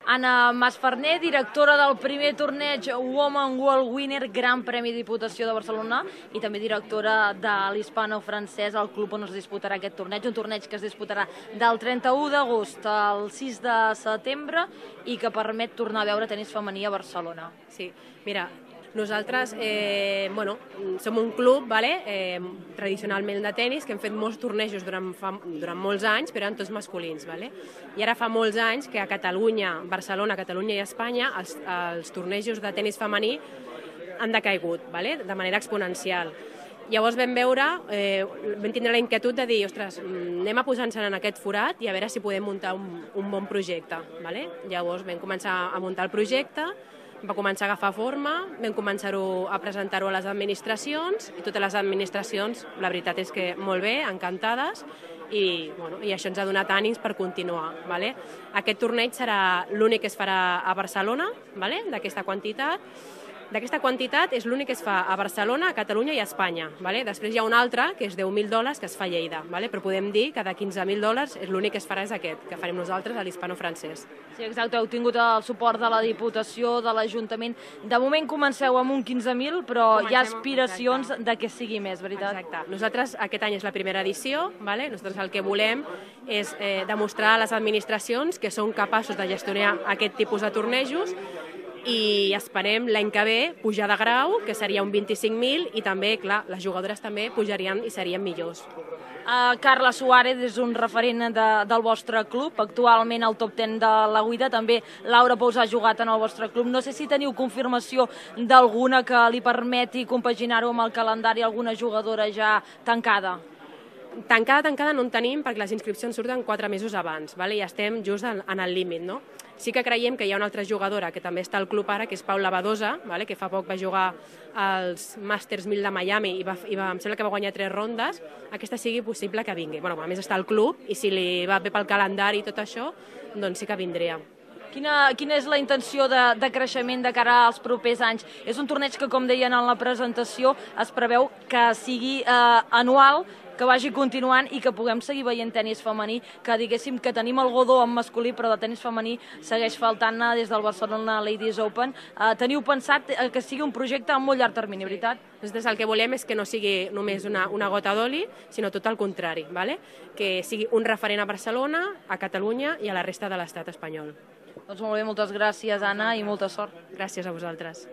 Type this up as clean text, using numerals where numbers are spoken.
Anna Masferner, directora del primer torneig Women World Winner, Gran Premi Diputació de Barcelona, i també directora de l'hispano-francès, el club on es disputarà aquest torneig, un torneig que es disputarà del 31 d'agost al 6 de setembre i que permet tornar a veure tenis femení a Barcelona. Sí, mira, nosaltres som un club tradicionalment de tenis que hem fet molts tornejos durant molts anys, però eren tots masculins. I ara fa molts anys que a Catalunya, Barcelona, Catalunya i Espanya els tornejos de tenis femení han decaigut de manera exponencial. Llavors vam tindre la inquietud de dir, ostres, anem a posar-nos en aquest forat i a veure si podem muntar un bon projecte. Llavors vam començar a muntar el projecte, va començar a agafar forma, vam començar a presentar-ho a les administracions i totes les administracions, la veritat és que molt bé, encantades, i això ens ha donat ànims per continuar. Aquest torneig serà l'únic que es farà a Barcelona, d'aquesta quantitat. D'aquesta quantitat és l'únic que es fa a Barcelona, a Catalunya i a Espanya. Després hi ha un altre, que és $10.000, que es fa a Lleida, però podem dir que de $15.000 és l'únic que es farà és aquest, que farem nosaltres a l'hispano-francès. Sí, exacte, heu tingut el suport de la Diputació, de l'Ajuntament. De moment comenceu amb un 15.000, però hi ha aspiracions de que sigui més, veritat? Exacte. Nosaltres aquest any és la primera edició, nosaltres el que volem és demostrar a les administracions que són capaços de gestionar aquest tipus de tornejos i esperem l'any que ve pujar de grau, que seria un 25.000, i també, clar, les jugadores també pujarien i serien millors. Carla Suárez és un referent del vostre club, actualment al top 10 de la WIDA, també Laura Pous ha jugat en el vostre club. No sé si teniu confirmació d'alguna que li permeti compaginar-ho amb el calendari, alguna jugadora ja tancada? Tancada no en tenim perquè les inscripcions surten 4 mesos abans i estem just en el límit. Sí que creiem que hi ha una altra jugadora que també està al club ara, que és Paula Badosa, que fa poc va jugar als Masters 1000 de Miami i em sembla que va guanyar 3 rondes. Aquesta sigui possible que vingui. A més està al club i si li va bé pel calendari i tot això, doncs sí que vindria. Quina és la intenció de creixement de cara als propers anys? És un torneig que, com deien en la presentació, es preveu que sigui anual, que vagi continuant i que puguem seguir veient tenis femení, que diguéssim que tenim el godó en masculí, però de tenis femení segueix faltant des del Barcelona Ladies Open. Teniu pensat que sigui un projecte a molt llarg termini, veritat? Nosaltres el que volem és que no sigui només una gota d'oli, sinó tot el contrari, que sigui un referent a Barcelona, a Catalunya i a la resta de l'estat espanyol. Doncs molt bé, moltes gràcies, Anna, i molta sort. Gràcies a vosaltres.